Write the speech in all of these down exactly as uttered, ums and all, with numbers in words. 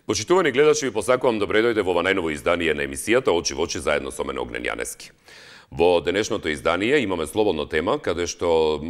Почитувани гледачи, ви посакувам добре дојде во ова најново издание на емисијата Очи во очи заедно со мене Огнен Јанески. Во денешното издание имаме слободна тема, каде што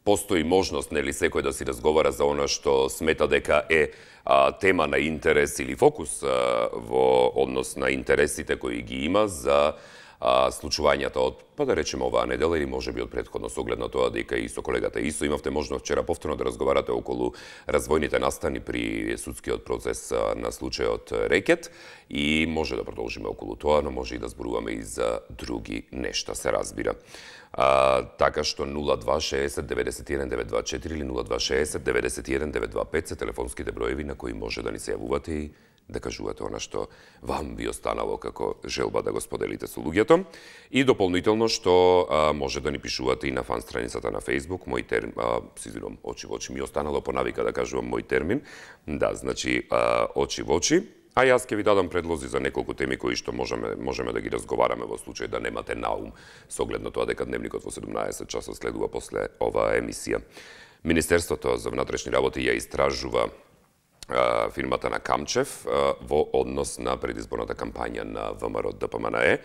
постои можност, нели, секој да си разговара за она што смета дека е а, тема на интерес или фокус а, во однос на интересите кои ги има за а, случувањата од, па да речеме, оваа недела или можеби од претходно со оглед на тоа дека и со колегата Исо имавте можност вчера повторно да разговарате околу развојните настани при судскиот процес на случајот Рекет и може да продолжиме околу тоа, но може и да зборуваме и за други нешта, се разбира. А, така што нула два шеесет деветдесет и еден девет два четири или нула два шеесет деветдесет и еден девет два пет се телефонските броеви на кои може да ни се јавувате и да кажувате она што вам би останало како желба да го споделите со луѓето. И дополнително што а, може да ни пишувате и на фан страницата на Facebook, мој термин, а, си извинувам, очи во очи ми останало по навика да кажувам мој термин. Да, значи а, очи во очи. А јас ќе ви дадам предлози за неколку теми кои што можеме можеме да ги разговараме во случај да немате наум со оглед на тоа дека дневникот во седумнаесет часот следува после оваа емисија. Министерството за внатрешни работи ја истражува а, фирмата на Камчев а, во однос на предизборната кампања на ВМРО Д П М Н Е.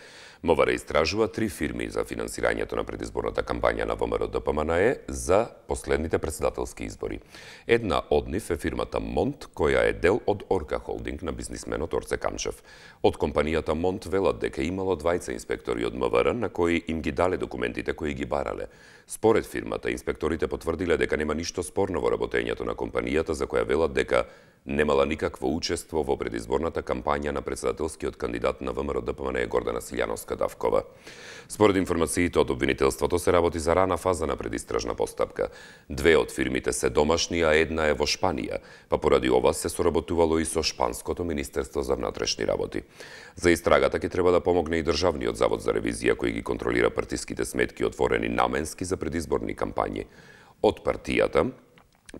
МВР истражува три фирми за финансирањето на предизборната кампања на ВМРО Д П М Н Е за последните председателски избори. Една од нив е фирмата Монт, која е дел од Орка Холдинг на бизнисменот Орце Камчев. Од компанијата Монт велат дека имало двајца инспектори од М В Р на кои им ги дале документите кои ги барале. Според фирмата, инспекторите потврдиле дека нема ништо спорно во работењето на компанијата, за која велат дека немала никакво учество во предизборната кампања на председателскиот кандидат на ВМРО Д П М Н Е Гордана Силјановска Давкова. Според информациите од обвинителството се работи за рана фаза на предистражна постапка. Две од фирмите се домашни, а една е во Шпанија, па поради ова се соработувало и со Шпанското Министерство за внатрешни работи. За истрагата ќе треба да помогне и Државниот завод за ревизија кој ги контролира партиските сметки отворени наменски за предизборни кампањи. Од партијата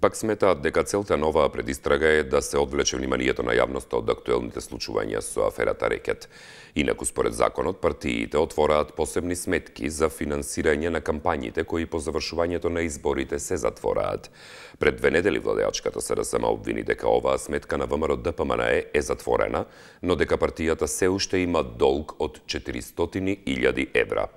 пак сметаат дека целта на оваа предистрага е да се одвлече вниманието на јавноста од актуелните случувања со аферата Рекет. Инаку, според законот, партиите отвораат посебни сметки за финансирање на кампањите кои по завршувањето на изборите се затвораат. Пред две недели владеачката С Р С М обвини дека оваа сметка на ВМРО Д П М Н Е е затворена, но дека партијата се уште има долг од четиристотини илјади евра.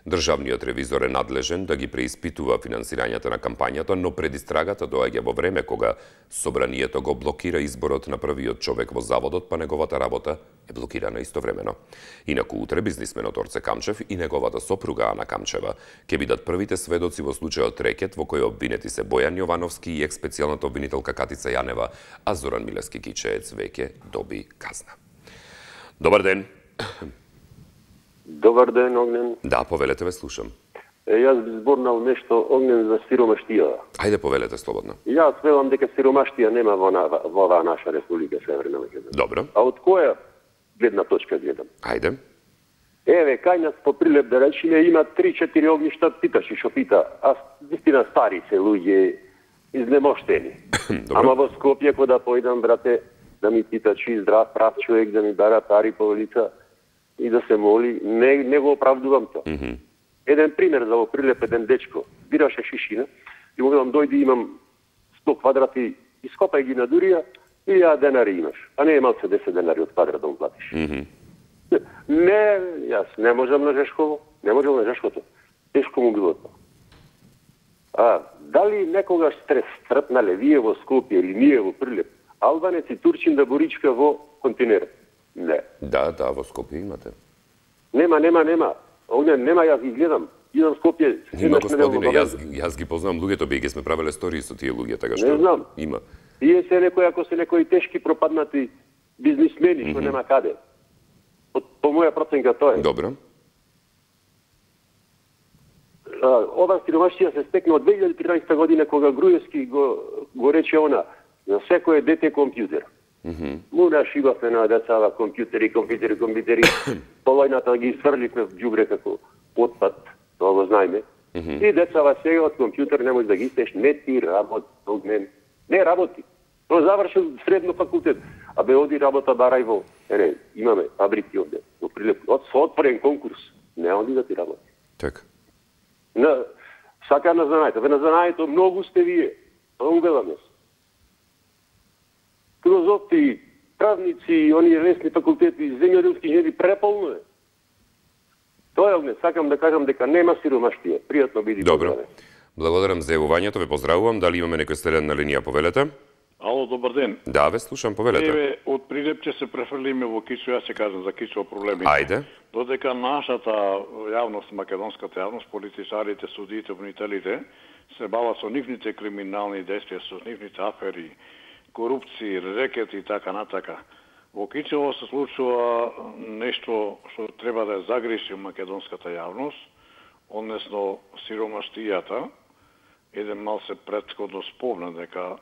Државниот ревизор е надлежен да ги преиспитува финансирањето на кампањата, но предистрагата доаѓа во време кога собранието го блокира изборот на првиот човек во заводот, па неговата работа е блокирана истовремено. Инаку утре бизнисменот Орце Камчев и неговата сопруга Ана Камчева ќе бидат првите сведоци во случајот Рекет, во кој обвинети се Бојан Јовановски и експецијалната обвинителка Катица Јанева, а Зоран Милевски Кичеец веќе доби казна. Добар ден. Добар ден, Огнен. Да, повелете, ве слушам. Е, јас би зборнал нешто, Огнен, за сиромаштија. Ајде, повелете слободно. Јас велам дека сиромаштија нема во, на, во оваа наша република Северна Македонија. Добро. А од која гледна точка гледам? Ајде. Еве, кај нас по прилеп да речеме има три-четири огништа, питаш и шо пита, а вистина стари се луѓе изнемоштени. Ама во Скопје кога да појдам, брате, да ми пита чи здрав прав човек, да ми бара пари по улица и да се моли, не, не го оправдувам тоа. Mm -hmm. Еден пример за во прилеп, еден дечко, бираше шишина и му велам, дојди, имам сто квадрати, ископај ги на дурија, и ја денари имаш. А не е малце десет денари од квадрат да му платиш. Mm -hmm. Не, јас не можам на Жешково, не можам на Жешкото. Тешко му било тоа. А, дали некогаш стрес трпнале вие во Скопје или ние во прилеп, албанец и турчин да боричка во континерот? Не. Да, да, во Скопје имате. Нема, нема, нема. Овде нема, јас ги гледам. Идам Скопје. Има, господине, јас, јас ги познавам луѓето, би ги сме правеле стории со тие луѓе, така што не знам. Има. Тие се некои, ако се некои тешки пропаднати бизнисмени, што mm -hmm. нема каде. От, по моја проценка тоа е. Добро. А, ова сиромаштија се стекна од две илјади и тринаесетта година, кога Груевски го, го рече она, за секој дете компјутер. Mm -hmm. Му нашивавме на децава компјутери, компјутери, компјутери. Полојната ги сврливме в џубре како отпад, тоа го знаеме. Mm -hmm. И децава сега од компјутер не можеш да ги истеш, не ти работи, не, не работи. Тоа завршил средно факултет, а бе оди работа барај во, ере, имаме фабрики овде, во Прилеп, од со отворен конкурс, не оди да ти работи. Така. На, сака на знаењето, ве на знаењето многу сте вие, тоа увелам јас. Филозофи, правници и оние лесни факултети, земјоделски инженери преполно е. Тоа е огне, сакам да кажам дека нема сиромаштија. Пријатно биди. Добро. Благодарам за јавувањето, ве поздравувам. Дали имаме некој следен на линија, повелете? Ало, добар ден. Да, ве слушам, повелете. Еве, од Прилепче се префрлиме во Кичо, јас ќе кажам за Кичо проблемите. Ајде. Додека нашата јавност, македонската јавност, политичарите, судиите, обвинителите, се бават со нивните криминални действија, со нивните афери, корупција, рекети и така натака. Во Кичево се случува нешто што треба да ја загреши македонската јавност, односно сиромаштијата. Еден мал се претходно спомна дека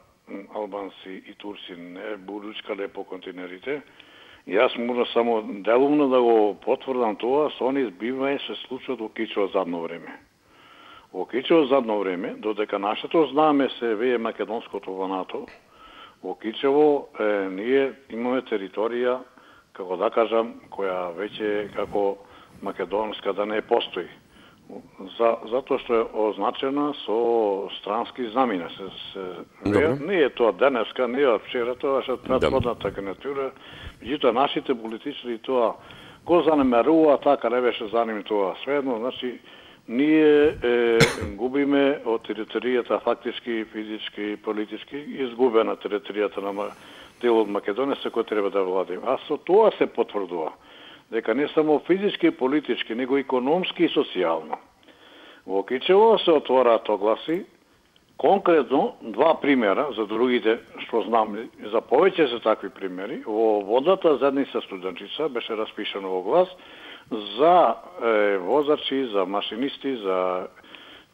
албанци и турци не буручкале по континерите. Јас можам само делумно да го потврдам тоа, со они збивање се случува во Кичево задно време. Во Кичево задно време, додека нашето знаме се вее македонското во НАТО, во Кичево е, ние имаме територија, како да кажам, која веќе како македонска да не постои. За, затоа што е означена со странски знамина. Се, се, не, не е тоа денеска, не е вчера, тоа е претходната кандидатура. Меѓутоа, нашите политичари тоа, го занемерува, така не беше за ним тоа. Сведно, значи, ние е, губиме од територијата фактички, физички, политички, изгубена територијата на дел од Македонија, се кој треба да владиме. А со тоа се потврдува дека не само физички и политички, него економски и социјално. Во Кичево се отвораат огласи, конкретно два примера, за другите што знам, за повеќе се такви примери. Во водната задница Студенчица беше распишано оглас за е, возачи, за машинисти, за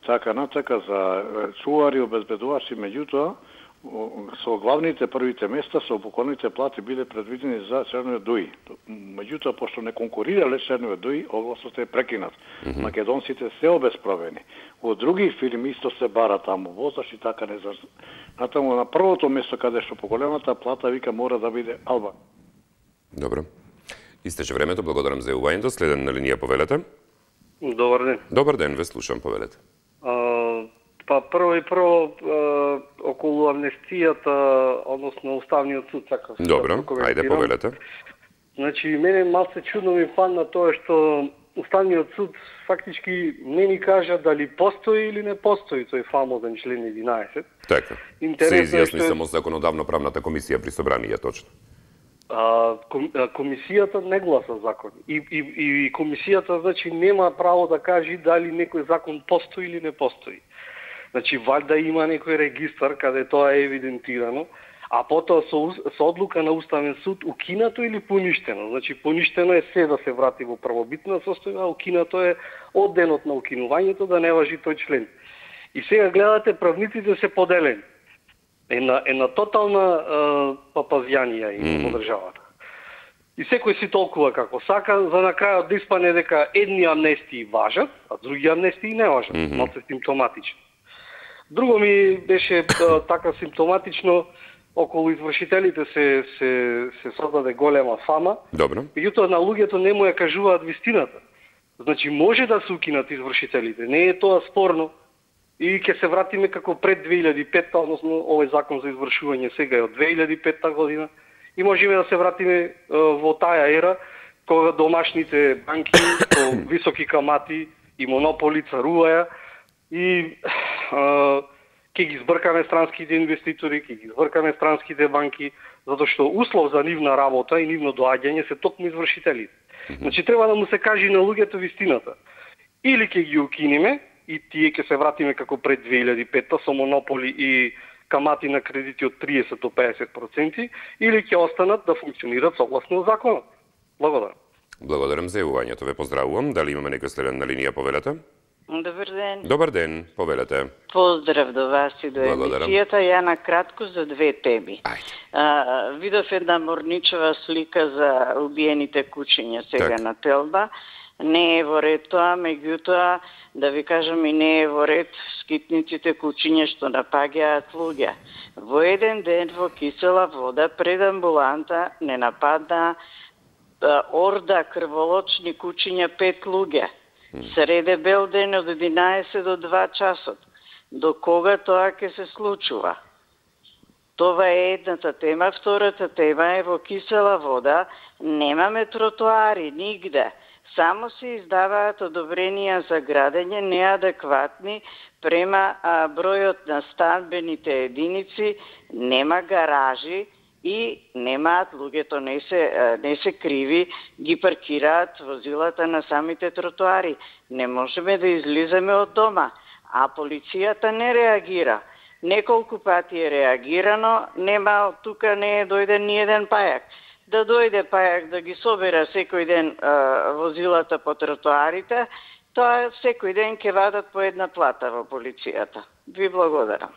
така натака, за чувари, обезбедувачи, меѓутоа, со главните првите места со поколните плати биле предвидени за Чернови Дуи. Меѓутоа, пошто не конкурирале Чернови Дуи, огласот е прекинат. Mm -hmm. Македонците се обесправени. Во други фирми исто се бара таму возаш и така не заш. Натаму на првото место каде што поголемата плата вика мора да биде Алба. Добро. Истече времето, благодарам за јавувањето. Следен на линија, повелете. Добар ден. Добар ден, ве слушам, повелете. А, па прво и прво а, околу амнестијата, односно Уставниот суд, сакам се Добро, да ајде, повелете. Значи, мене малце чудно ми падна тоа што Уставниот суд фактички не ни кажа дали постои или не постои тој фамозен член единаесет. Така. Се изјасни само законодавно-правната комисија при собрание, точно. А, ком, а, комисијата не гласа закон. И, и, и комисијата, значи, нема право да каже дали некој закон постои или не постои. Значи, валјда има некој регистар каде тоа е евидентирано, а потоа со, со одлука на Уставен суд укинато или поништено. Значи, поништено е се да се врати во првобитна состојба, а укинато е од денот на укинувањето да не важи тој член. И сега гледате, правниците се поделени. Една, една тотална е, папазјанија и mm. во државата. И секој си толкува како сака, за на крајот да испане дека едни амнестии важат, а други амнестии не важат. Mm -hmm. Малце симптоматично. Друго ми беше е, така симптоматично, околу извршителите се, се, се создаде голема фама. Добро. Меѓутоа на луѓето не му ја кажуваат вистината. Значи може да се укинат извршителите, не е тоа спорно. И ќе се вратиме како пред две илјади и петта, односно овој закон за извршување сега е од две илјади и петта година. И можеме да се вратиме е, во таа ера, кога домашните банки со високи камати и монополи царуваја и ќе ги збркаме странските инвеститори, ќе ги збркаме странските банки, затоа што услов за нивна работа и нивно доаѓање се токму извршителите. Значи треба да му се каже на луѓето вистината. Или ќе ги укинеме, и тие ќе се вратиме како пред две илјади и петта со монополи и камати на кредити од триесет до пеесет проценти, или ќе останат да функционират согласно законот. Благодарам. Благодарам за јавувањето, ве поздравувам. Дали имаме некој следен на линија, повелете? Добар ден. Добар ден, повелете. Поздрав до вас и до емисијата. Ја на кратко за две теми. А, видов една морничева слика за убиените кучиња сега так. на Телба. Не е во ред тоа, меѓутоа, да ви кажам и не е во ред скитниците кучиња што напаѓаат луѓе. Во еден ден во кисела вода пред амбуланта не нападна а, орда крволочни кучиња пет луѓе. Среде бел ден од единаесет до два часот. До кога тоа ќе се случува? Това е едната тема. Втората тема е во Кисела Вода немаме тротоари нигде. Само се издаваат одобренија за градење неадекватни према а, бројот на станбените единици, нема гаражи и немаат луѓето, не се, не се криви, ги паркираат возилата на самите тротоари. Не можеме да излизаме од дома, а полицијата не реагира. Неколку пати е реагирано, нема, тука не е дојден ни еден пајак. Да дојде пајак да ги собера секој ден а, возилата по тротоарите, тоа секој ден ќе вадат по една плата во полицијата. Ви благодарам.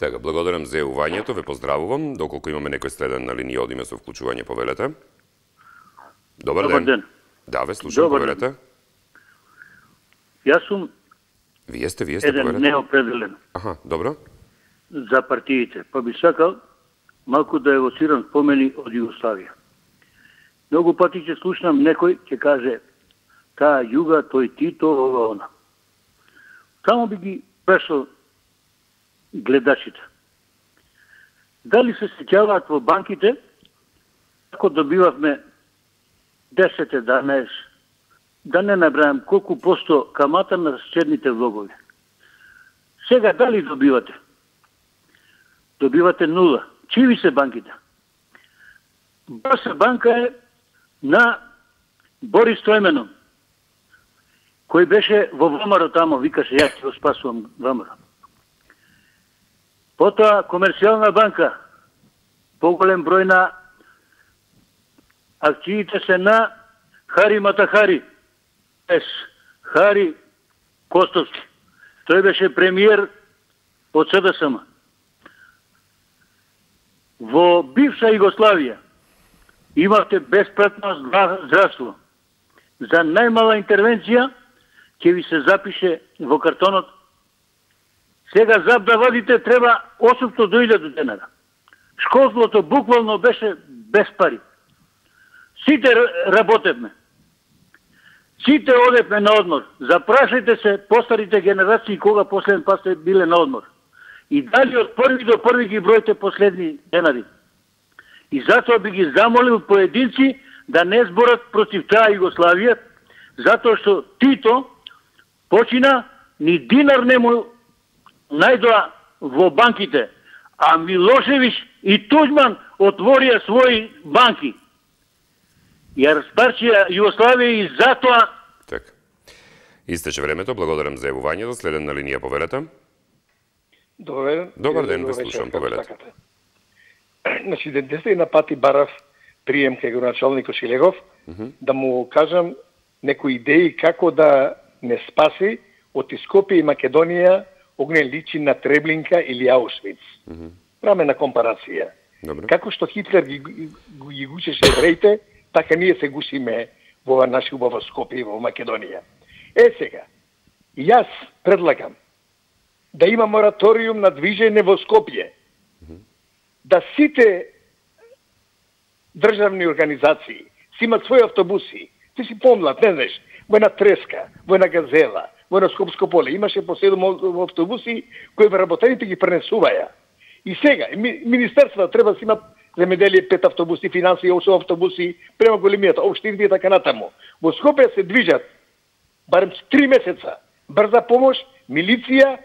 Така, благодарам за јавувањето, ве поздравувам. Доколку имаме некој следен на линија, одиме со вклучување, повелете. Добар, Добар ден. ден. Да, ве слушам, Добар повелете. Ден. Јас сум Вие сте, вие сте, еден повелете. неопределен. Аха, добро. За партиите. Па би сакал малку да евоцирам спомени од Југославија. Многу пати ќе слушнам некој ќе каже таа југа, тој Тито, ова она. Само би ги прашал гледачите. Дали се сеќаваат во банките како добивавме десет еднаесет, да не набрајам колку посто камата на черните влогови. Сега дали добивате? Добивате нула. Чиви се банките? БС банка е на Борис Стојменов, кој беше во ВМРО тамо, викаше, јас ќе го спасувам ВМРО. Потоа Комерцијална банка, поголем број на акциите се на Хари Матахари, ес, Хари Костовски. Тој беше премиер од СДСМ. Во бивша Југославија имавте бесплатно здравство. За најмала интервенција ќе ви се запише во картонот. Сега зап да вадите треба осумстотини до илјада денара. Школството буквално беше без пари. Сите работевме. Сите одевме на одмор. Запрашајте се постарите генерации кога последен пат сте биле на одмор. И дали од први до први ги бројте последни денари. И затоа би ги замолил поединци да не зборат против таа Југославија, затоа што Тито почина ни динар не му најдоа во банките, а Милошевич и Туџман отворија своји банки. Ја распарчија Југославија и затоа... Така. Истече времето, благодарам за јавувањето. Следен на линија, повелете. Добар ден. Добар ден, ве слушам, повелете. Значи, десетина пати барав прием кај градоначалникот Шилегов, mm -hmm. да му кажам некои идеи како да не спаси од Скопје и Македонија огнен личи на Треблинка или Аушвиц. Mm -hmm. Правиме на компарација. Добре. Како што Хитлер ги, ги, ги гучеше евреите, така ние се гушиме во наши убава Скопје и во Македонија. Е сега, јас предлагам да има мораториум на движење во Скопје, mm-hmm. да сите државни организации си имат своји автобуси. Ти си помлад, не знаеш, во една Треска, во една Газела, во една Скопско поле, имаше по седум автобуси кои вработените ги пренесуваја. И сега, министерствата треба да си имат земеделие пет автобуси, финансии осум автобуси, према големијата, општини и така натаму. Во Скопје се движат барем три месеца брза помош, милиција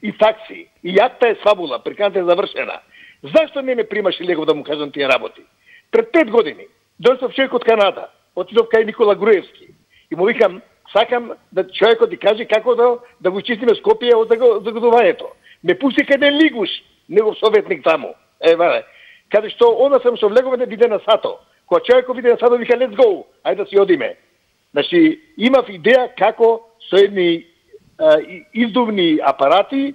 и такси. И јакта е свабула, приканата е завршена. Зашто не ме примаш Шилегов да му кажам тие работи? Пред пет години дојдов човек од Канада, отидов кај Никола Груевски и му викам, сакам да човекот ти каже како да да го чистиме Скопје од загадувањето. Ме пусти кај еден лигуш, негов советник таму. Е, вале. Каде што онда сам со влегов да биде на сато. Кога човекот биде на сато вика let's go, ајде да си одиме. Значи, имав идеја како со едни а, издувни апарати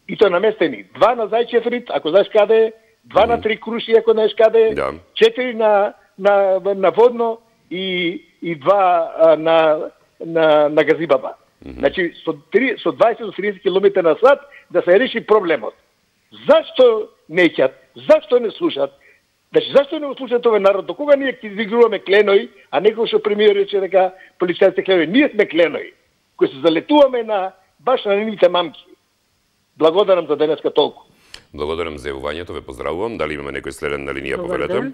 и тоа наместени. Два на Зајчев рид, ако знаеш каде е, два mm. на три круши, ако знаеш каде е, yeah. четири на, на, на водно и, и два а, на, на, на Газибаба. Mm -hmm. Значи, со, три, со дваесет до тридесет километри на сат да се реши проблемот. Зашто неќат? Зашто не слушат? Значи, зашто не слушат овој народ? До кога ние ќе изигруваме кленои, а некој што премиер рече дека полицајците кленои? Ние сме кленои, кои се залетуваме на баш на нивните мамки. Благодарам за денеска толку. Благодарам за јавувањето, ве поздравувам. Дали имаме некој следен на линија, повелете?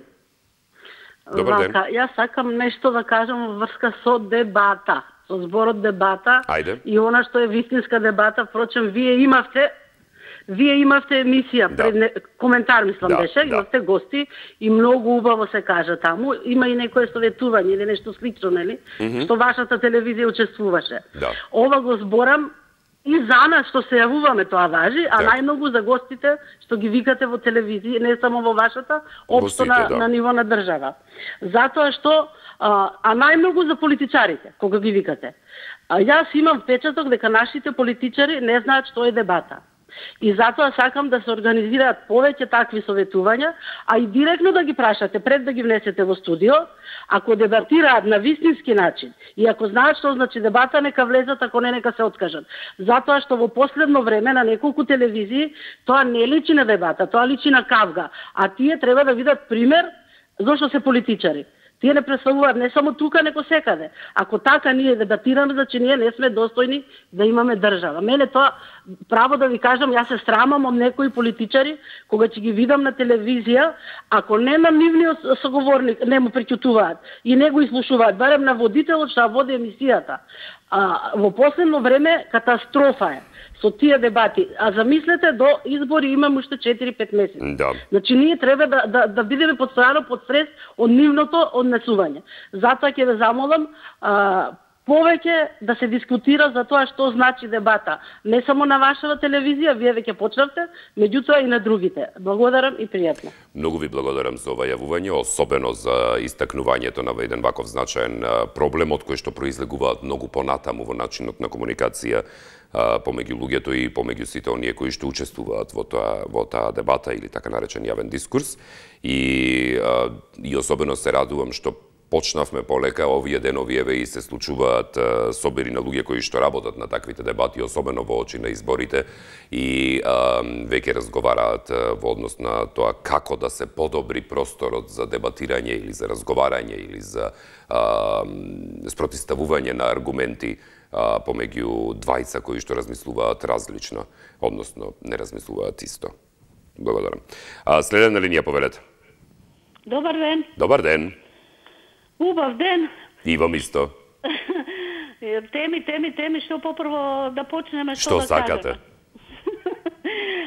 Добар ден. Вака, јас сакам нешто да кажам во врска со дебата, со зборот дебата. Ајде. И она што е вистинска дебата, впрочем, вие имавте Вие имавте емисија, да. пред не, коментар мислам да, беше, да. имавте гости и многу убаво се кажа таму. Има и некое советување или нешто слично, нели? Mm -hmm. Што вашата телевизија учествуваше. Да. Ова го зборам и за нас што се јавуваме, тоа важи, а да. најмногу за гостите што ги викате во телевизија, не само во вашата, општо на, да. на ниво на држава. Затоа што, а, а најмногу за политичарите, кога ги викате. А, јас имам впечаток дека нашите политичари не знаат што е дебата. И затоа сакам да се организираат повеќе такви советувања, а и директно да ги прашате пред да ги внесете во студио, ако дебатираат на вистински начин и ако знаат што значи дебата, нека влезат, ако не, нека се откажат. Затоа што во последно време на неколку телевизии тоа не личи на дебата, тоа личи на кавга, а тие треба да видат пример зошто се политичари. Тие не представуваат не само тука, него секаде. Ако така ние дебатираме, значи ние не сме достојни да имаме држава. Мене тоа, право да ви кажам, јас се срамам од некои политичари, кога ќе ги видам на телевизија, ако не на нивниот соговорник не му преќутуваат и не го изслушуваат, барем на водителот што води емисијата. А, во последно време катастрофа е со тие дебати. А замислете, до избори имаме уште четири-пет месеци. Да. Значи ние треба да, да, да бидеме постојано под стрес од нивното однесување. Затоа ќе ве замолам а, повеќе да се дискутира за тоа што значи дебата. Не само на вашата телевизија, вие веќе почнавте, меѓутоа и на другите. Благодарам и пријатно. Многу ви благодарам за ова јавување, особено за истакнувањето на еден ваков значаен проблем, од кој што произлегуваат многу понатаму во начинот на комуникација помеѓу луѓето и помеѓу сите оние кои што учествуваат во тоа во таа дебата или така наречен јавен дискурс. И и особено се радувам што почнавме полека овие денови, еве и се случуваат собери на луѓе кои што работат на таквите дебати, особено во очи на изборите, и а, веќе разговараат во однос на тоа како да се подобри просторот за дебатирање или за разговарање или за а, спротивставување на аргументи а, помеѓу двајца кои што размислуваат различно, односно не размислуваат исто. Благодарам. А, следен на линија, повелете. Добар ден. Добар ден. Убав ден. И вам исто. Теми, теми, теми, што попрво да почнеме што, што да сакате? кажеме.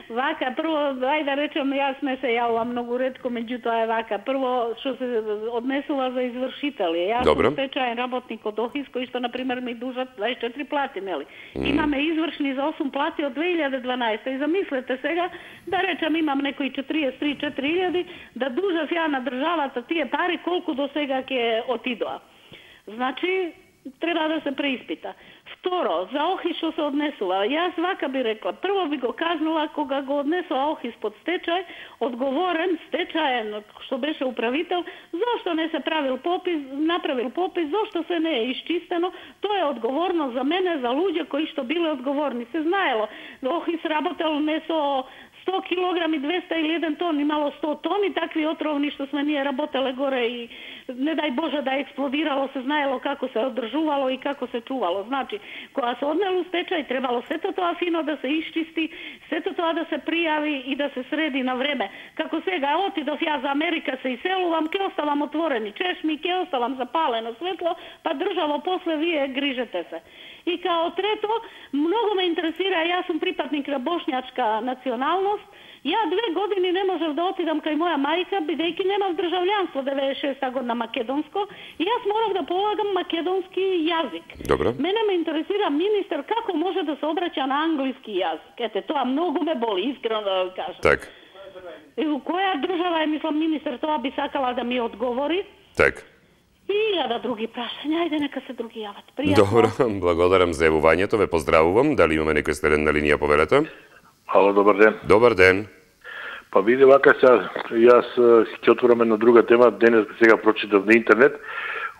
Вака, прво, ај да речем, јас не се јавувам многу ретко, меѓутоа е вака. Прво, што се однесува за извршители. Јас Добре. сум стечаен работник од ОХИС, кои што, например, ми дужат дваесет и четири плати, нели? Mm. Имаме извршни за осум плати од две илјади и дванаесета. И замислете сега, да речем, имам некои четириесет и три до четири илјади, да дужав ја на државата тие пари, колку до сега ќе отидоа. Значи, треба да се преиспита. Второ, за ОХИС што се однесува. Јас вака би рекла, прво би го кажнала кога го однесува ОХИС под стечај, одговорен, стечаен, што беше управител, зошто не се правил попис, направил попис, зошто се не е исчистено, тоа е одговорно за мене, за луѓе кои што биле одговорни. Се знаело, ОХИС работел не со сто килограми, двеста или еден тон, имало сто тони такви отровни што сме ние работеле горе и не дај Боже да експлодирало, се знаело како се одржувало и како се чувало. Значи, кога се однело стечај, требало сето тоа фино да се исчисти, сето тоа да се пријави и да се среди на време. Како сега отидов ја за Америка, се иселувам, ке оставам отворени чешми, ке оставам запалено светло, па државо после вие грижете се. И као трето, многу ме интересира, јас сум припадник на бошњачка националност, ја две години не можев да отидам кај моја мајка, бидејќи немав држављанство деветдесет и шеста година македонско, и јас морав да полагам македонски јазик. Добре. Мене ме интересира министер како може да се обраќа на англиски јазик. Ете, тоа многу ме боли, искрено да го кажам. Так. И у која држава е, мислам, министер, тоа би сакала да ми одговори. Так. И илјада други прашања, ајде нека се други јават. Пријатно. Добро, благодарам за јавувањето, ве поздравувам. Дали имаме некој следен на линија, повелете? Ало, добар ден. Добар ден. Па види вака сега, јас ќе отворам една друга тема, денес сега прочитав на интернет.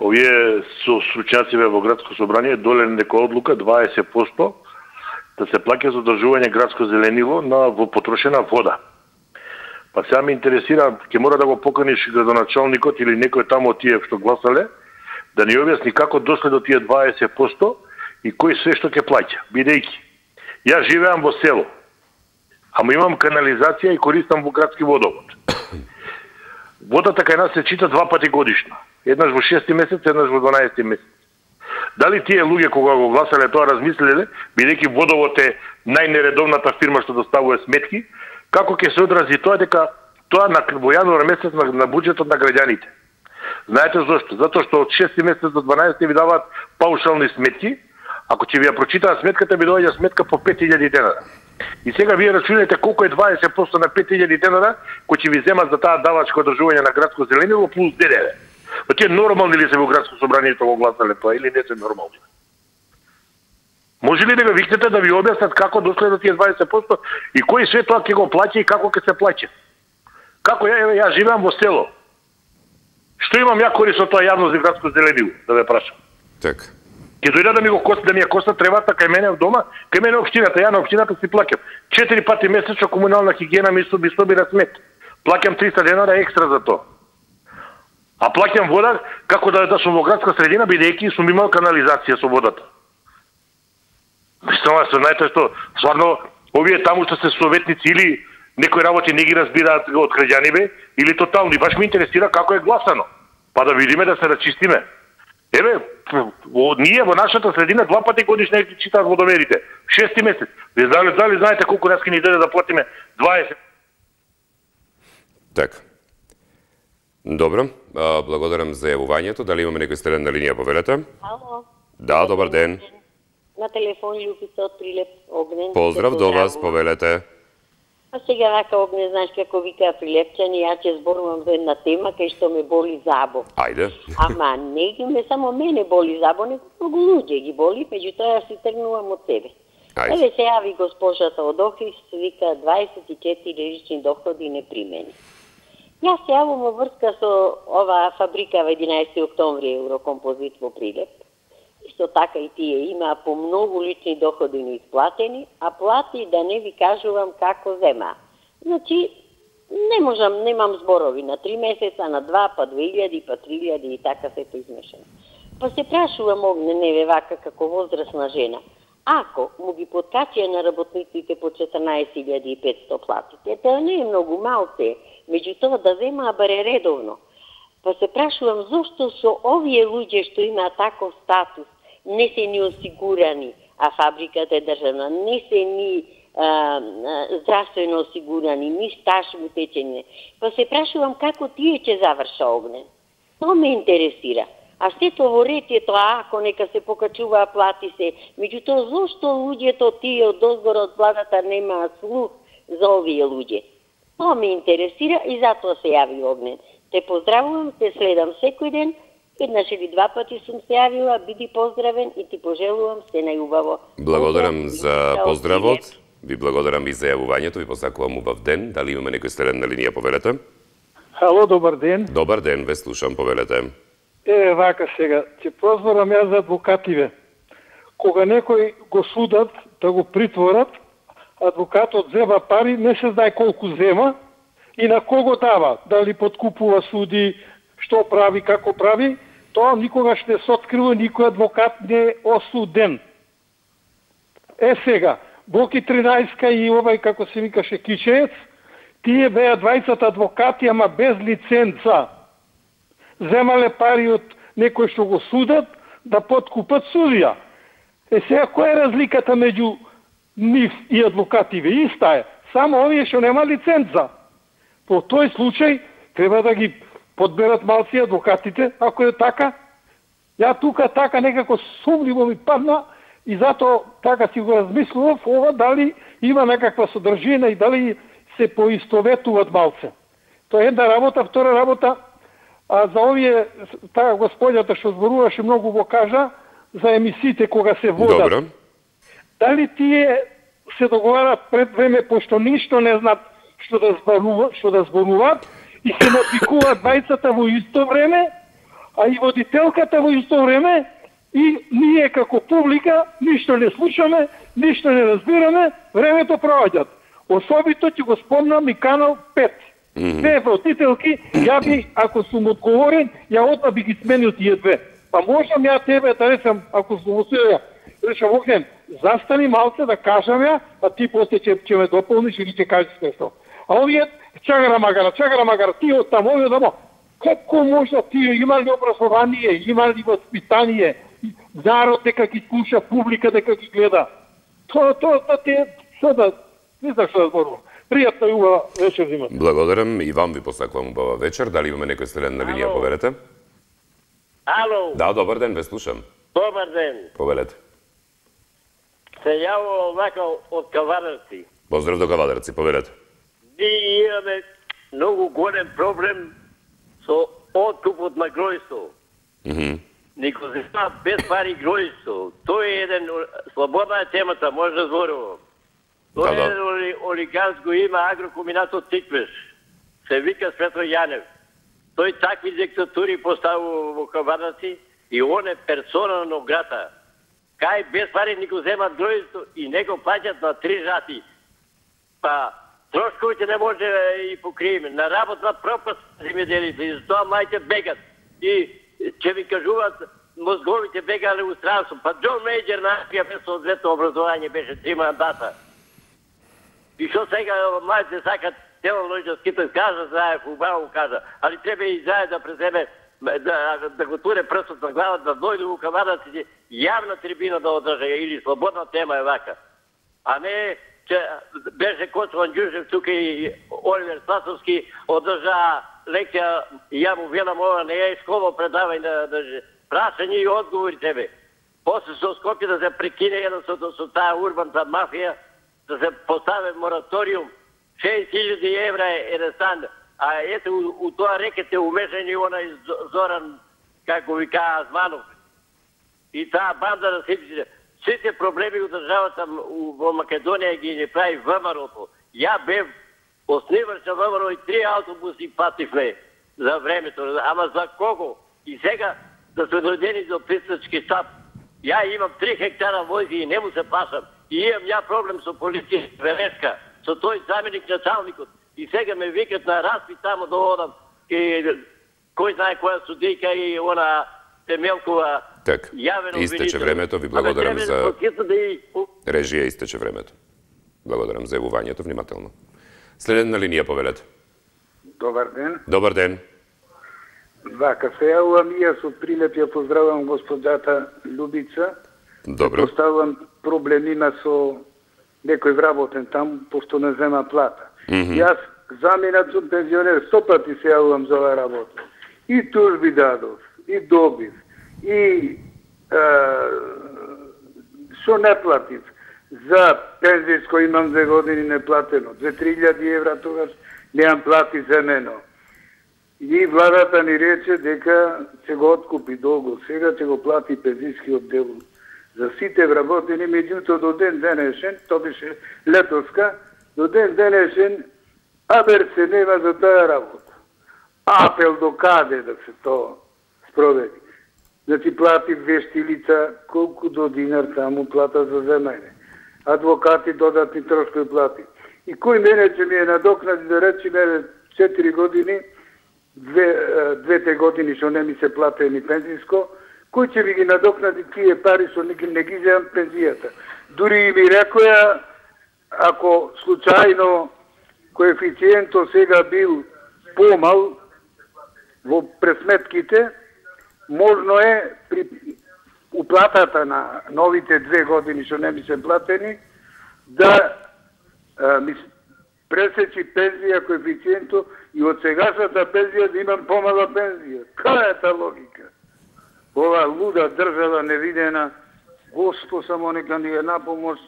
Овие со стручњаци во градско собрание доле некоја одлука дваесет проценти да се плаќа за одржување градско зеленило на во потрошена вода. Па сега ме интересира, ќе мора да го поканиш градоначалникот или некој тамо од тие што гласале, да ни објасни како дошле до тие дваесет проценти и кој се што ќе плаќа. Бидејќи, јас живеам во село, ама имам канализација и користам во градски водовод. Водата кај нас се чита два пати годишно. Еднаш во шести месец, еднаш во дванаесети месец. Дали тие луѓе кога го гласале тоа размислиле, бидејќи водовод е најнередовната фирма што доставува сметки, како ќе се одрази тоа дека тоа на во јануар месец на, на буџетот на граѓаните. Знаете зошто? Затоа што од шести месец до дванаесети ви даваат паушални сметки. Ако ќе ви ја прочитаат сметката, ви доаѓа сметка по пет илјади денара. И сега вие рачунајте колку е дваесет проценти на пет илјади денара кои ќе ви земат за таа давачко одржување на градско зеленило плюс ДДВ. Па тие нормални ли се во градско собрание го гласале тоа или не се нормални? Може ли да го викнете да ви објаснат како дошле до тие дваесет проценти и кој све тоа ќе го плаќа и како ќе се плаќа? Како ја, ја живеам во село? Што имам ја корист од тоа јавно за градско зеленило, да ве прашам? Така. Ќе дојде да ми го коста, да ми ја коста тревата кај мене в дома, кај мене општината, ја на општината си плаќам. Четири пати месечно комунална хигиена ми соби собира смет. Плаќам триста денара екстра за тоа. А плаќам вода како да да сум во градска средина бидејќи сум имал канализација со водата. Мислам, се знаете што, стварно овие таму што се советници или некои работи не ги разбираат од граѓаниве или тотално. И баш ме интересира како е гласано. Па да видиме да се рачистиме. Еве, ние во нашата средина два пати годишно ги читаат водомерите. Шести месец. Вие дали, дали знаете колку нас ќе ни дојде да платиме дваесет? Така. Добро, а, благодарам за јавувањето. Дали имаме некој стрелен на линија, повелете? Ало. Да, добар ден. На телефон Љупица од Прилеп, Огнен. Поздрав до вас, повелете. А сега вака, Огнен, знаеш како вика прилепчани, ја ќе зборувам за една тема кај што ме боли забо. Ајде. Ама не ги ме само мене боли забо, него многу луѓе ги боли, меѓутоа ја си тргнувам од себе. Ајде. Еве се јави госпожата од Охрис, вика дваесет и четири лични доходи непримени. Јас се јавам во врска со ова фабрика во единаесети октомври Еврокомпозит во Прилеп. Исто така и тие има по многу лични доходи неисплатени, а плати да не ви кажувам како зема. Значи, не можам, немам зборови на три месеца, на два, па две илјади, па три илјади и така сето измешано. Па се прашувам, Огнен, неве вака како возрастна жена, ако му ги подкачија на работниците по четрнаесет илјади и петстотини платите, тоа не е многу малце, меѓутоа да земаа баре редовно. Па се прашувам зошто со овие луѓе што имаат таков статус не се ни осигурани, а фабриката е државна, не се ни а, а, здравствено осигурани, ни стаж утечење. Па се прашувам како тие ќе заврша, Огнен. Тоа ме интересира. А сето во ред е тоа, ако нека се покачува плати се. Меѓутоа, зошто луѓето тие од дозгора од владата немаат слух за овие луѓе? Тоа ме интересира и затоа се јави, Огнен. Те поздравувам, те следам секој ден, еднаш или два пати сум се јавила, биди поздравен и ти пожелувам се најубаво. Благодарам за поздравот, ви благодарам и за јавувањето, ви посакувам убав ден. Дали имаме некој стрелен на линија, повелете? Ало, добар ден. Добар ден, ве слушам, повелете. Е, вака сега, ќе прозборам јас за адвокативе. Кога некој го судат да го притворат, адвокатот зема пари, не се знае колку зема и на кого дава, дали подкупува суди, што прави, како прави, тоа никогаш не се открива, никој адвокат не е осуден. Е сега, Боки тринаесетка и овај, како се викаше, Кичеец, тие беа двајцата адвокати, ама без лиценца. Земале пари од некој што го судат, да подкупат судија. Е сега, која е разликата меѓу нив и адвокативе? Иста е, само овие што нема лиценца. По тој случај, треба да ги подберат малци адвокатите, ако е така. Ја тука така некако сумливо ми падна и затоа така си го размислував ова дали има некаква содржина и дали се поистоветуваат малце. Тоа е една работа, втора работа, а за овие, таа господјата што зборуваше многу го кажа, за емисиите кога се водат. Добро. Дали тие се договарат пред време, пошто ништо не знаат што да зборуваат, што да зборуваат, и се напикуваат двајцата во исто време, а и водителката во исто време, и ние како публика ништо не слушаме, ништо не разбираме, времето проаѓат. Особито ќе го спомнам и канал пет. Mm-hmm. Две водителки, ја би, ако сум одговорен, ја одма би ги сменил тие две. Па можам ја тебе да речам, ако сум осуден, речам, Огнен, застани малце да кажам ја, а ти после ќе ќе ме дополниш или ќе кажеш нешто. А овие чагара магара, чагара магара, ти од таму, овие тамо. Како може тие има ли образование, има ли воспитание, народ дека ги слуша, публика дека ги гледа. Тоа тоа тоа те што да не знам што да зборувам. Пријатна и убава вечер имате. Благодарам и вам ви посакувам убава вечер. Дали имаме некој следен на линија, повелете? Ало. Да, добар ден, ве слушам. Добар ден. Повелете. Се јавувам вака од Кавадарци. Поздрав до Кавадарци, повелете. Ние имаме многу голем проблем со откупот на гројство. Mm-hmm. Никој се зема без пари гројство. Тоа е еден, слободна е темата, може да зборувам. Тоа е еден оли, олигарско има агрокомбинатот Тиквеш. Се вика Светро Јанев. Тој такви диктатури поставува во Кавадарци и он е персона на грата. Кај без пари никој земат гројство и него плаќат на три рати. Па трошковите не може и покриеме. На работна пропаст земјоделите и затоа мајте бегат. И ќе ви кажуваат мозговите бегале у странство. Па Џон Мејџер нашија без соодветно образование беше три мандата. И што сега мајте сакат телологически да кажа, знае убаво кажа, али треба и заед да преземе да, да го туре прстот на глава, да дојде у Кавадарци јавна трибина да одржа или слободна тема е вака. А не че беше Коцман Ѓуршев тука и Оливер Сласовски одржа лекција, ја му велам ова не е школа предавање да, да прашање и одговори тебе. После со Скопје да се прекине едно со, со таа урбанта мафија, да се постави мораториум, шест илјади евра е еден стан, а ете у, у тоа рекете умешани онај Зоран, како ви кажа, Азманов. И таа банда да сите, сите проблеми у државата во Македонија ги не прави ВМРО-то. Ја бев основач на ВМРО и три автобуси пативме за времето, ама за кого? И сега да се дојдени до пристачки штаб. Ја имам три хектара војзи и не му се пасам. И имам ја проблем со полиција Велешка, со тој заменик началникот. И сега ме викат на распит тамо да одам. И кој знае која судика и она Темелкова. Так, истече времето, ви благодарам за режија, истече времето. Благодарам за јавувањето, внимателно. Следен на линија, повелете. Добар ден. Добар ден. Вака, се јавувам и јас од Прилеп, ја поздравам господата Љубица. Добро. Поставувам проблем има со некој вработен там, пошто не зема плата. Mm -hmm. Јас заминат сум пензионер, сто пати се јавувам за оваа работа. И тужби дадов, и добив, и што не платив. За пензијско имам две години неплатено. две-три илјади евра тогаш немам плати земено. И владата ни рече дека ќе го откупи долго. Сега ќе го плати пензијскиот дел за сите вработени, меѓуто до ден денешен, тоа беше летоска, до ден денешен абер се нема за таа работа. Апел до каде да се тоа спроведи. Да ти плати вешти лица колку до динар таму плата за земење. Адвокати додатни трошкови плати. И кој мене ќе ми е надокнади да речеме четири години, две, двете години што не ми се платени пензијско, кој ќе ви ги надокнади тие пари што не ги, не ги земам пензијата. Дури и ми рекоја, ако случајно коефициентот сега бил помал во пресметките, можно е при уплатата на новите две години што не ми се платени, да а, ми пресечи пензија коефициентот и од сегашната пензија да имам помала пензија. Каја е та логика? Ова луда држава невидена, Госпо само нека ни е на помош.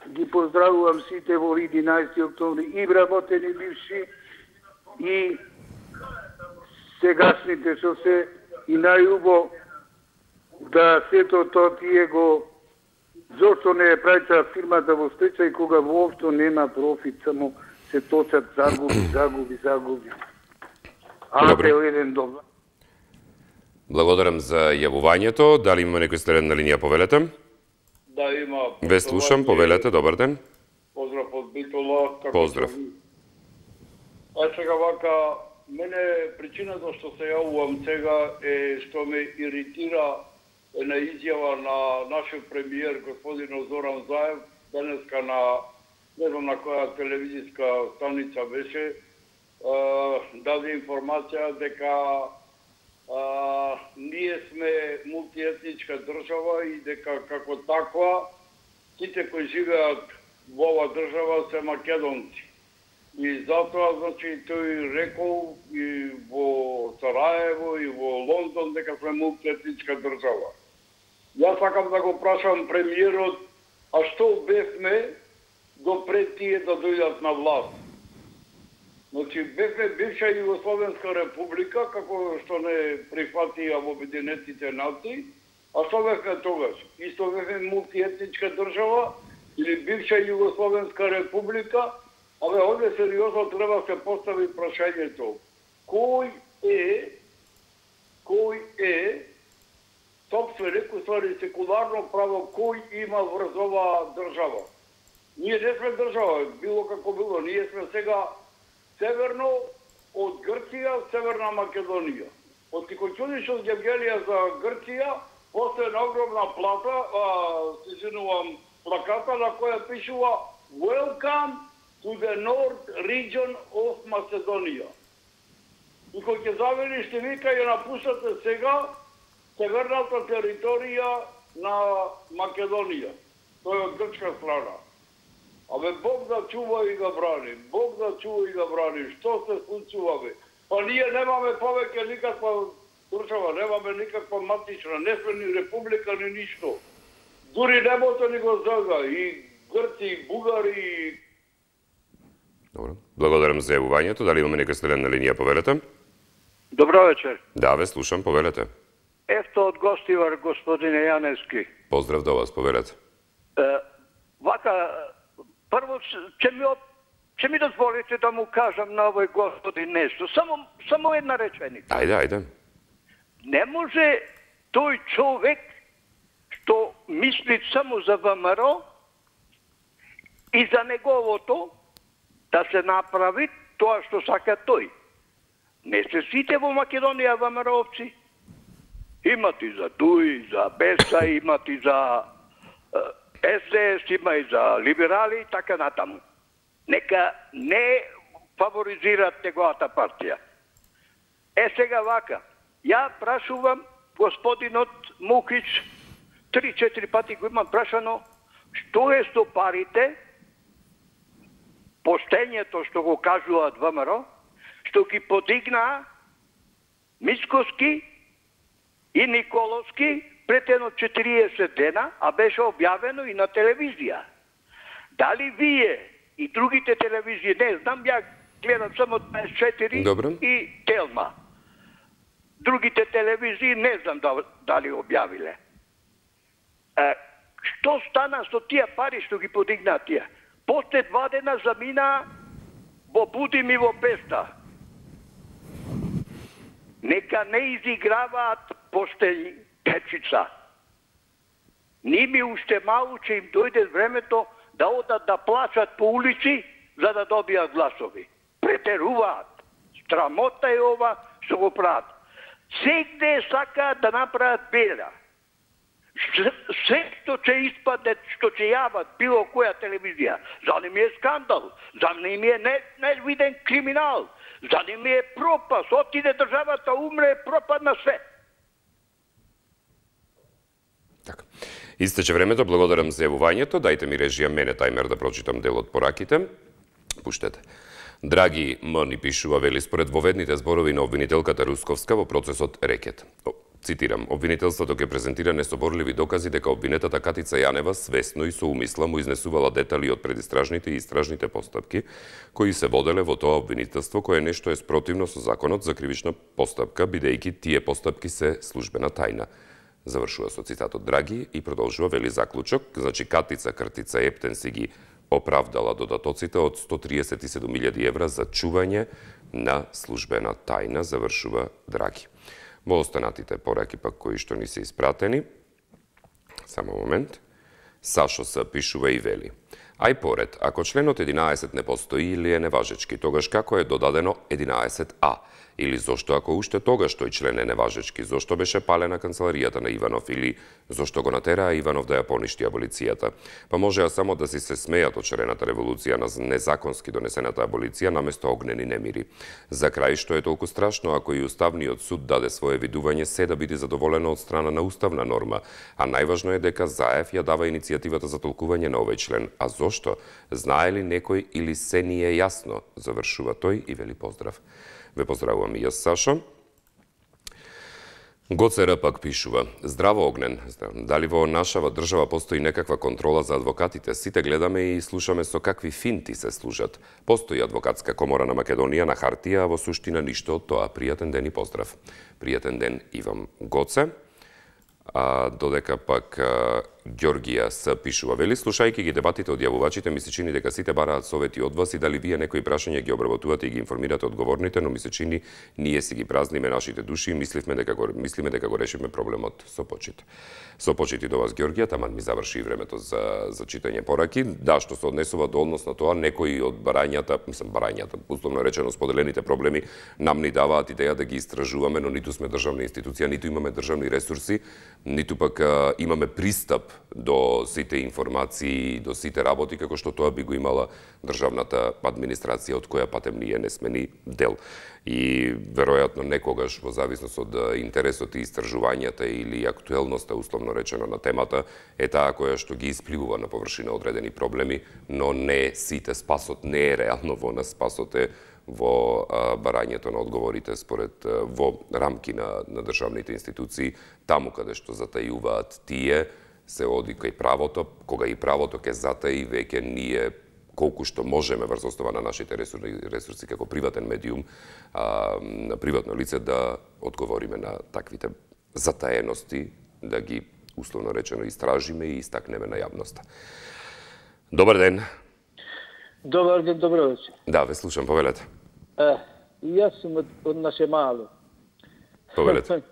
Ги поздравувам сите во единаесети октомври, и вработени бивши, и сегашните што се, и најубо да сето тоа тие го, зошто не е праќа фирмата во стечај кога воопшто нема профит, само се точат загуби, загуби, загуби. Апел еден добар. Благодарам за јавувањето. Дали има некој следен на линија, повелете? Да, има. Ве слушам, повелете, добар ден. Поздрав од Битола. Поздрав. А сега вака, мене причината што се јавувам сега е што ме иритира една изјава на нашиот премиер господин Зоран Заев денеска на не знам на која телевизиска станица беше, даде информација дека а, ние сме мултиетничка држава и дека како таква сите кои живеат во оваа држава се македонци. И затоа, значи, тој рекол и во Сараево и во Лондон дека сме мултиетничка држава. Јас сакам да го прашам премиерот, а што бевме допред тие да дојдат на власт? Значи, бевме бивша Југословенска република, како што не прифатија во Обединетите нации, а што бевме тогаш? Исто бевме мултиетничка држава или бивша Југословенска република? Абе, овде сериозно треба да се постави прашањето. Кој е, кој е собственик, уствари секуларно право, кој има врз оваа држава? Ние не сме држава, било како било. Ние сме сега северно од Грција, Северна Македонија. Од Тикочудишот Гевгелија за Грција, после една огромна плата, а, се извинувам, плаката на која пишува Welcome to the North Region of Macedonia. И кој ќе завери ще вика ја напуштате сега северната територија на Македонија. Тој е од грчка страна. Абе, Бог да чува и да брани. Бог да чува и да брани. Што се случува, бе? Па ние немаме повеќе никаква држава, немаме никаква матична, не сме ни република, ни ништо. Дури небото ни го зага. И Грци, и Бугари, и... Добро. Благодарам за јавувањето. Дали имаме нека следен на линија, повелете? Добро вечер. Да, ве слушам, повелете. Ефто од Гостивар, господине Јаневски. Поздрав до вас, повелете. Е, вака, прво, ќе ми, ќе ми дозволите да му кажам на овој господин нешто. Само, само една реченица. Ајде, ајде. Не може тој човек што мисли само за ВМРО и за неговото да се направи тоа што сака тој. Не се сите во Македонија ВМРО-овци. Имат и за Дуи, за Беса, имат и за Ес Де Ес, има и за либерали и така натаму. Нека не фаворизират неговата партија. Е сега вака, ја прашувам господинот Мукич, три-четири пати го имам прашано, што е со парите, поштењето што го кажуваат ВМРО, што ги подигнаа Мицкоски и Николовски пред едно четириесет дена, а беше објавено и на телевизија. Дали вие и другите телевизии, не знам, ја гледам само дваесет и четири Добре. И Телма. Другите телевизии не знам дали објавиле. Е, што стана со тие пари што ги подигнаа тие? После два дена замина во Будим и во Песта. Нека не изиграваат поштени печица. Ними уште малку ќе им дојде времето да одат да плачат по улици за да добијат гласови. Претеруваат. Страмота е ова што го прават. Сегде сакаат да направат бела. Се што ќе испаде, што ќе јават било која телевизија, за не ми е скандал, за не ми е невиден криминал, за не ми е пропаст, отиде државата, умре, пропадна све. Така. Истече времето, благодарам за јавувањето. Дајте ми режија мене тајмер да прочитам дел од пораките. Пуштете. Драги М ни пишува, вели, според воведните зборови на обвинителката Русковска во процесот Рекет. Цитирам, обвинителството ќе презентира несоборливи докази дека обвинетата Катица Јанева свесно и со умисла му изнесувала детали од предистражните и истражните постапки кои се воделе во тоа обвинителство, кое нешто е спротивно со законот за кривична постапка, бидејќи тие постапки се службена тајна. Завршува со цитатот Драги и продолжува, вели, заклучок, значи Катица Кртица Ептен си ги оправдала додатоците од сто триесет и седум илјади евра за чување на службена тајна, завршува Драги. Во останатите пораки пак кои што ни се испратени, само момент, Сашо се пишува и вели. Ај поред, ако членот единаесет не постои или е неважечки, тогаш како е додадено единаесет а? Или зошто ако уште тогаш тој член е неважечки, зошто беше палена канцеларијата на Иванов или зошто го натераа Иванов да ја поништи аболицијата? Па можеа само да си се смејат од шарената револуција на незаконски донесената аболиција наместо огнени немири. За крај, што е толку страшно ако и Уставниот суд даде свое видување се да биде задоволено од страна на уставна норма, а најважно е дека Заев ја дава иницијативата за толкување на овој член. А зошто? Знае ли некој или се ни е јасно? Завршува тој и вели поздрав. Ве поздравувам и јас, Сашо. Гоцера пак пишува: Здраво, Огнен. Дали во нашава држава постои некаква контрола за адвокатите? Сите гледаме и слушаме со какви финти се служат. Постои адвокатска комора на Македонија на хартија, а во суштина ништо од тоа. Пријатен ден и поздрав. Пријатен ден и вам, Гоце. А додека пак а, Ѓоргија се пишува, вели, слушајќи ги дебатите од јавувачите, ми се чини дека сите бараат совети од вас и дали вие некои прашања ги обработувате и ги информирате одговорните, но ми се чини ние си ги празниме нашите души и мисливме дека го, мислиме дека го решиме проблемот со почит. Со почит и до вас, Ѓоргија, таман ми заврши времето за, за читање пораки. Да, што се однесува до однос на тоа, некои од барањата, мислам барањата, условно речено споделените проблеми, нам ни даваат идеја да ги истражуваме, но ниту сме државна институција, ниту имаме државни ресурси, ниту пак а, имаме пристап до сите информации, до сите работи, како што тоа би го имала државната администрација, од која патем ние не сме ни дел. И веројатно некогаш, во зависност од интересот и истражувањата или актуелноста, условно речено, на темата, е таа која што ги испливува на површина одредени проблеми, но не сите спасот, не е реално во нас, спасот е во а, барањето на одговорите според а, во рамки на, на државните институции, таму каде што затајуваат тие, се оди кај правото, кога и правото ке затаи, веќе ние колку што можеме врз основа на нашите ресурси, ресурси како приватен медиум, а, на приватно лице да одговориме на таквите затаености, да ги условно речено истражиме и истакнеме на јавноста. Добар ден. Добар ден, добро вечер. Да, ве слушам, повелете. Е, јас сум од, од наше мало. Повелете.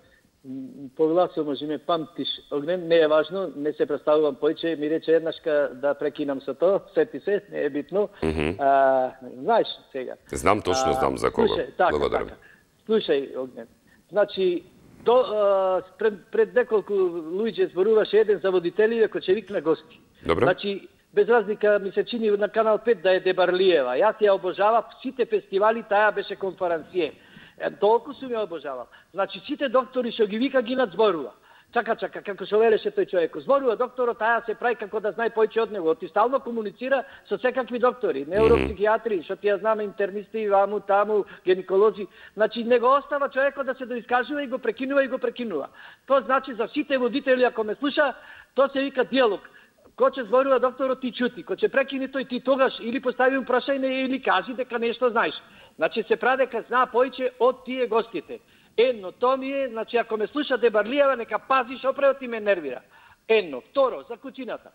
Повелацо, може ме памтиш, Огнен, не е важно, не се представувам појче, ми рече еднашка да прекинам со тоа, сети се, не е битно. Mm -hmm. а, знаеш сега. Знам точно, а, знам за кого. Слушай, така, благодарам. Така. Слушај, Огнен, значи, до, а, пред, пред неколку луѓе зборуваше еден за водителите кој ќе викна гости. Добро. Значи, без разлика ми се чини на Канал пет да е Дебарлиева. Јас ја обожавав сите фестивали, таа беше конференције. Е, толку сум ја обожавал. Значи, сите доктори што ги вика ги надзборува. Чака, чака, како што велеше тој човек. Зборува докторот, таа се прави како да знае појче од него. Ти стално комуницира со секакви доктори, невропсихијатри, што ти ја знаме, интернисти, ваму, таму, гинеколози. Значи, не го остава човекот да се доискажува и го прекинува и го прекинува. Тоа значи за сите водители, ако ме слуша, тоа се вика диалог. Кој ќе зборува докторот, ти чути. Кој ќе прекини тој, ти тогаш или постави прашање или кажи дека нешто знаеш. Значи се прави дека знаа поиќе од тие гостите. Едно, тоа ми е, значи ако ме слуша Дебарлиева, нека пази што пред ти ме нервира. Едно, второ, за кучината.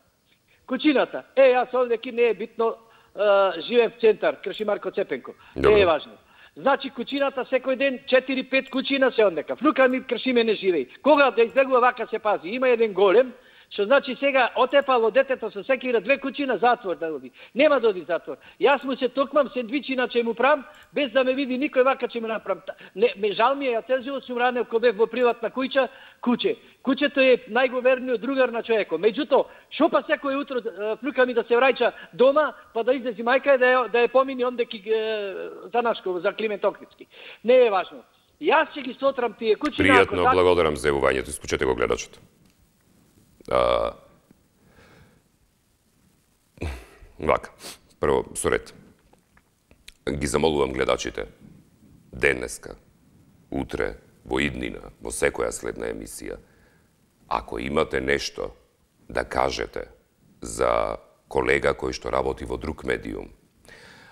Кучината. Е, јас овде ки не е битно, е, живеем в центар, Крши Марко Цепенко. Добре. Не е важно. Значи кучината секој ден четири пет кучина се однека. Флука ми Кршиме не живеи. Кога да избегува вака се пази. Има еден голем, што значи сега отепало детето со секира две кучи на затвор да оди. Нема да оди затвор. Јас му се токмам сендвичи на че му прам, без да ме види никој вака че му направам. Не, ме жал ми е, ја цел живот сум ранел ко бев во приватна куќа, куче. Кучето е најговерниот другар на човекот. Меѓутоа, шо па секој утро флука ми да се враќа дома, па да излези мајка да ја, да ја помини онде ки за Нашково, за Климент Охридски. Не е важно. Јас ќе ги сотрам тие кучи. Пријатно, на... благодарам за јавувањето. Исклучете го гледачот. А... Вака, прво, со ред. Ги замолувам гледачите. Денеска, утре, во иднина, во секоја следна емисија, ако имате нешто да кажете за колега кој што работи во друг медиум,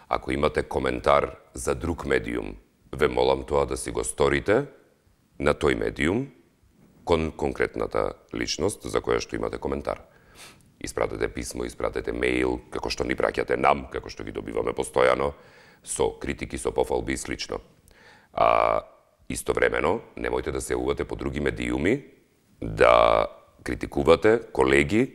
ако имате коментар за друг медиум, ве молам тоа да си го сторите на тој медиум, кон конкретната личност за која што имате коментар. Испратете писмо, испратете мејл, како што ни праќате нам, како што ги добиваме постојано, со критики, со пофалби и слично. А истовремено, немојте да се јавувате по други медиуми, да критикувате колеги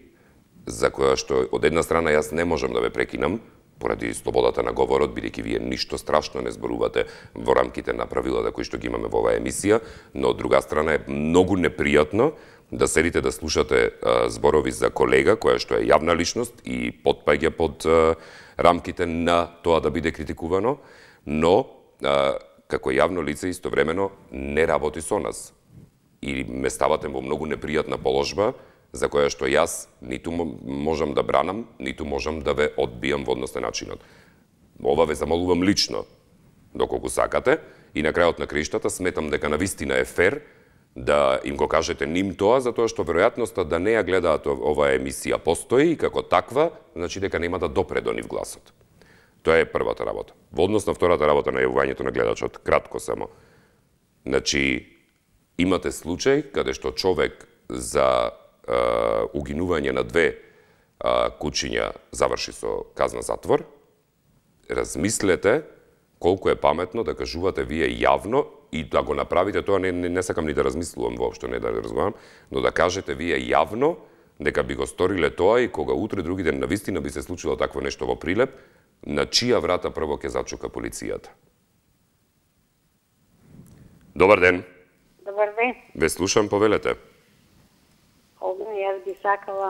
за која што од една страна јас не можам да ве прекинам, поради слободата на говорот, бидејќи вие ништо страшно не зборувате во рамките на правилата кои што ги имаме во оваа емисија, но од друга страна е многу непријатно да седите да слушате а, зборови за колега која што е јавна личност и потпаѓа под а, рамките на тоа да биде критикувано, но а, како јавно лице истовремено не работи со нас. И ме ставате во многу непријатна положба, за која што јас ниту можам да бранам, ниту можам да ве одбијам во однос на начинот. Ова ве замолувам лично, доколку сакате, и на крајот на краиштата сметам дека навистина е фер да им го кажете ним тоа, затоа што веројатноста да не ја гледаат оваа емисија постои и како таква, значи дека нема да допре до нив гласот. Тоа е првата работа. Во однос на втората работа на јавувањето на гледачот, кратко само. Значи, имате случај каде што човек за Uh, угинување на две uh, кучиња заврши со казна затвор, размислете колку е паметно да кажувате вие јавно и да го направите тоа, не, не, не сакам ни да размислувам воопшто, не да разговарам, но да кажете вие јавно дека би го сториле тоа и кога утре други ден навистина би се случило такво нешто во Прилеп, на чија врата прво ќе зачука полицијата. Добар ден. Добар ден. Ве слушам, повелете. Огне, јас би сакала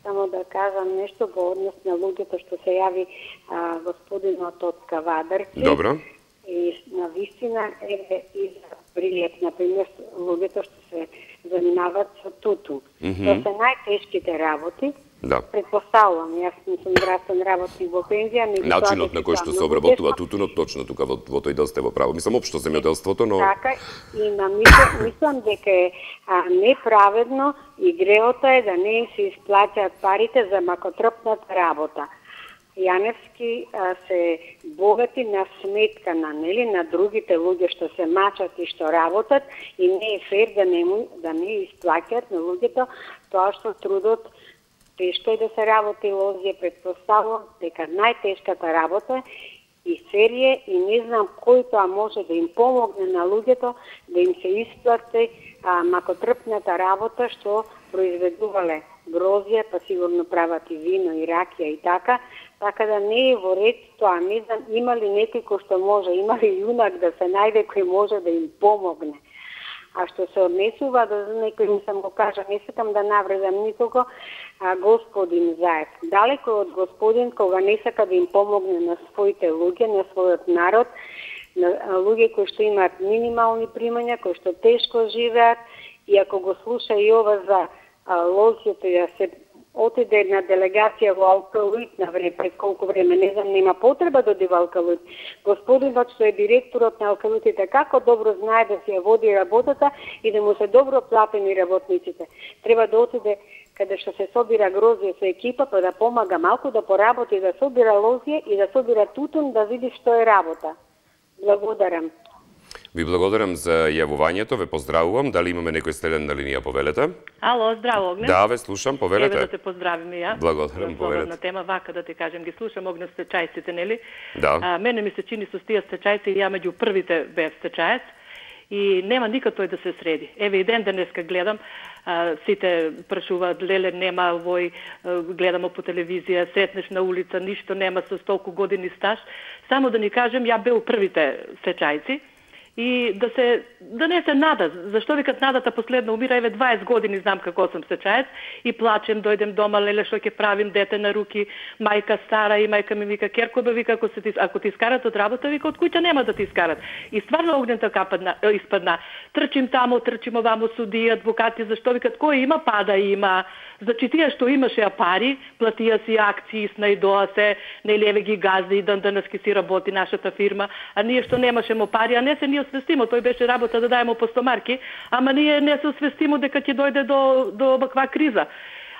само да кажам нешто во однос на луѓето што се јави а, господинот од Кавадарци. Добро. И на вистина е и за Прилеп, например, луѓето што се занимаваат со тутун. Mm -hmm. Тоа се најтешките работи. Да. Предпоставувам, јас не сум здравствен работник во пензија, меѓутоа начинот на кој што се обработува тутунот точно тука во, во тој дел сте во право. Мислам општо земјоделството, но така и на мислам, мислам дека е а, неправедно и греото е да не се исплаќаат парите за макотрпната работа. Јаневски а, се богати на сметка на нели на другите луѓе што се мачат и што работат и не е фер да не да не исплаќаат на луѓето тоа што трудот. Тешко е да се работи лозија, предпоставувам дека најтешката работа и серија и не знам кој тоа може да им помогне на луѓето да им се исплати а, макотрпната работа што произведувале грозија, па сигурно прават и вино и ракија и така, така да не е во ред тоа. Не знам има ли некој кој што може, има ли јунак да се најде кој може да им помогне. А што се однесува до некој, не сам го кажа, не сакам да навредам никого, а, господин Заев. Далеко од господин кога не сака да им помогне на своите луѓе, на својот народ, на луѓе кои што имаат минимални примања, кои што тешко живеат, и ако го слуша и ова за а, лозјето и да се отиде една делегација во Алкалуит на време, пред колку време, не знам, нема потреба да оди во Алкалуит. Господинот што е директорот на Алкалуитите, како добро знае да се ја води работата и да му се добро платени работниците. Треба да отиде каде што се собира грозје со екипа, па да помага малку да поработи, да собира лозје и да собира тутун, да види што е работа. Благодарам. Ви благодарам за јавувањето, ве поздравувам. Дали имаме некој следен на линија, повелете? Ало, здраво, Огне. Да, ве слушам, повелете. Еве да те поздравиме ја. Благодарам, повелете. На тема вака да ти кажем, ги слушам Огне стечајците, нели? Да. А, мене ми се чини со тие стечајци и ја меѓу првите бев стечајец и нема никако тој да се среди. Еве и ден денеска гледам, а, сите прашуваат, леле, нема овој, гледамо по телевизија, сретнеш на улица, ништо нема со толку години стаж. Само да ни кажем, ја бев првите стечајци, и да се да не се нада, зашто викат надата последно умира, еве дваесет години знам како сум стечаец и плачем, дојдем дома, леле што ќе правим, дете на руки, мајка стара и мајка ми вика Керкоба, вика ако се ти ако ти искарат од работа, вика од куќа нема да ти искарат. И стварно огнето кападна испадна. Трчим таму, трчим оваму, судија, адвокати, зашто викат кој има пада има. Значи тие што имаше пари, платија си акции, снајдоа се, нели еве ги газди и денески си работи нашата фирма, а ние што немашемо пари, а не се ние освестимо, тој беше работа да дајемо по стомарки, ама ние не се освестимо дека ќе дојде до до ваква криза.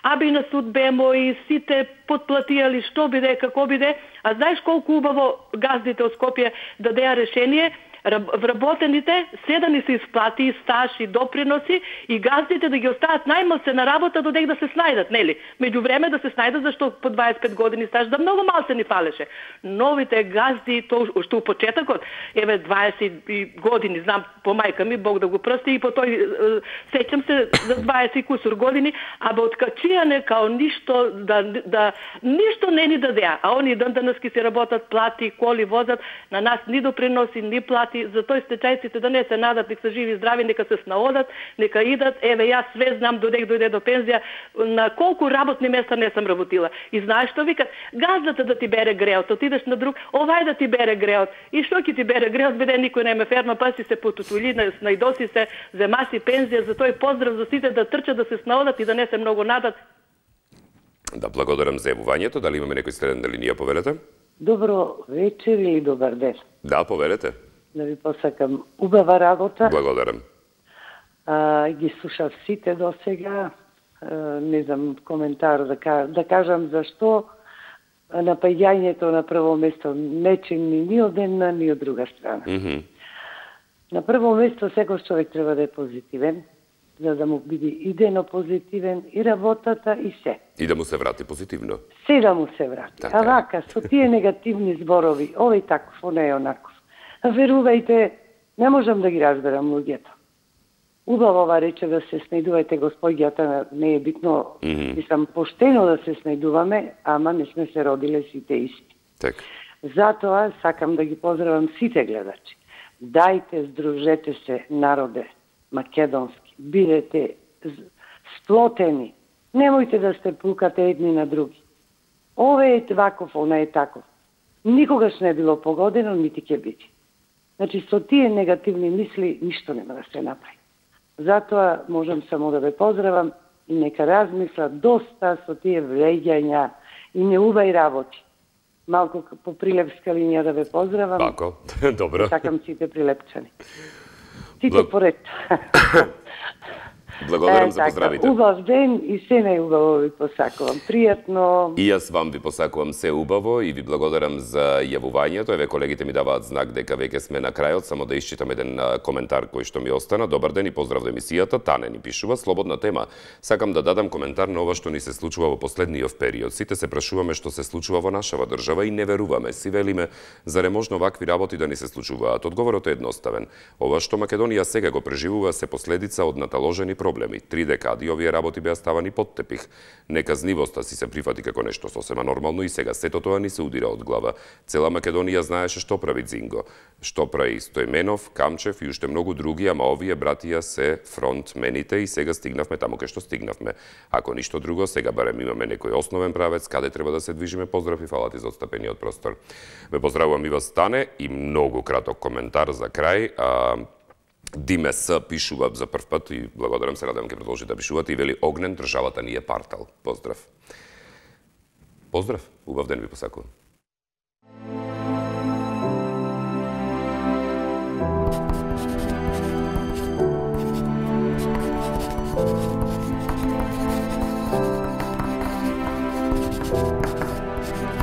Аби и на суд бемо и сите подплатијали што биде, како биде, а знаеш колку убаво газдите од Скопје дадеа решение, вработените се да ни се исплати и стаж и доприноси и газдите да ги остават најмал се на работа додек да се снајдат, нели? Меѓу време да се снајдат зашто по дваесет и пет години стаж да многу мал се ни фалеше. Новите газди, то што у почетокот, еве дваесет години, знам по мајка ми, Бог да го прости, и по тој сеќам се за дваесет и кусур години, а бе откачијане као ништо да да ништо не ни дадеа, а они ден денески се работат, плати, коли возат, на нас ни доприноси, ни плати, за тој стечајците да не се надат, нека се живи и здрави, нека се снаодат, нека идат, еве јас све знам додек дојде до пензија, на колку работни места не сам работила. И знаеш што викат? Газдата да ти бере греот, отидеш на друг, овај да ти бере греот. И што ќе ти бере греот, биде никој не ме ферма, па си се потутули, снајдоси се, зема си пензија, за тој поздрав за сите да трчат, да се снаодат и да не се многу надат. Да, благодарам за јавувањето. Дали имаме некој следен на линија, повелете? Добро вечер или добар ден. Да, повелете. Да ви посакам убава работа. Благодарам. А, ги слушав сите до сега. А, не знам коментар да, да кажам зашто напаѓањето на прво место не чини ни од една, ни од друга страна. Mm -hmm. На прво место секој човек треба да е позитивен, за да му биде идено позитивен и работата и се. И да му се врати позитивно. Се да му се врати. Така. А вака, со тие негативни зборови, овој таков, оној онаков. Верувајте, не можам да ги разберам луѓето. Убаво ова рече да се снајдувајте, господјата, не е битно, mm -hmm. мислам, поштено да се снајдуваме, ама не сме се родиле сите исти. Так. Затоа сакам да ги поздравам сите гледачи. Дајте, здружете се, народе, македонски, бидете сплотени. Немојте да сте пукате едни на други. Ове е ваков, она е таков. Никогаш не било погодено, нити ќе биде. Значи, со тие негативни мисли, ништо нема да се направи. Затоа можам само да ве поздравам и нека размисла доста со тие вреѓања и неувај работи. Малку по прилепска линија да ве поздравам. Тако, добро. Сакам сите прилепчани. Сите Благ... поред. Благодарам е, за поздравите. Убав ден и се најубаво ви посакувам. Пријатно. И јас вам ви посакувам се убаво и ви благодарам за јавувањето. Еве колегите ми даваат знак дека веќе сме на крајот, само да исчитам еден коментар кој што ми остана. Добар ден и поздрав до емисијата. Тане ни пишува слободна тема. Сакам да дадам коментар на ова што ни се случува во последниот период. Сите се прашуваме што се случува во нашава држава и не веруваме. Си велиме зарем можно вакви работи да ни се случуваат. Одговорот е едноставен. Ова што Македонија сега го преживува се последица од наталожени проблеми. Три декади овие работи беа ставани под тепих. Неказнивоста си се прифати како нешто сосема нормално и сега сето тоа ни се удира од глава. Цела Македонија знаеше што прави Дзинго, што прави Стојменов, Камчев и уште многу други, ама овие братија се фронтмените и сега стигнавме таму кај што стигнавме. Ако ништо друго, сега барем имаме некој основен правец каде треба да се движиме. Поздрав и фала ти за отстапениот простор. Ве поздравувам и вас, Стане, и многу краток коментар за крај. А, Диме С пишува за прв пат и благодарам се, радам ќе продолжи да пишувате и вели Огнен, државата ни е партал. Поздрав. Поздрав, убав ден ви посакувам.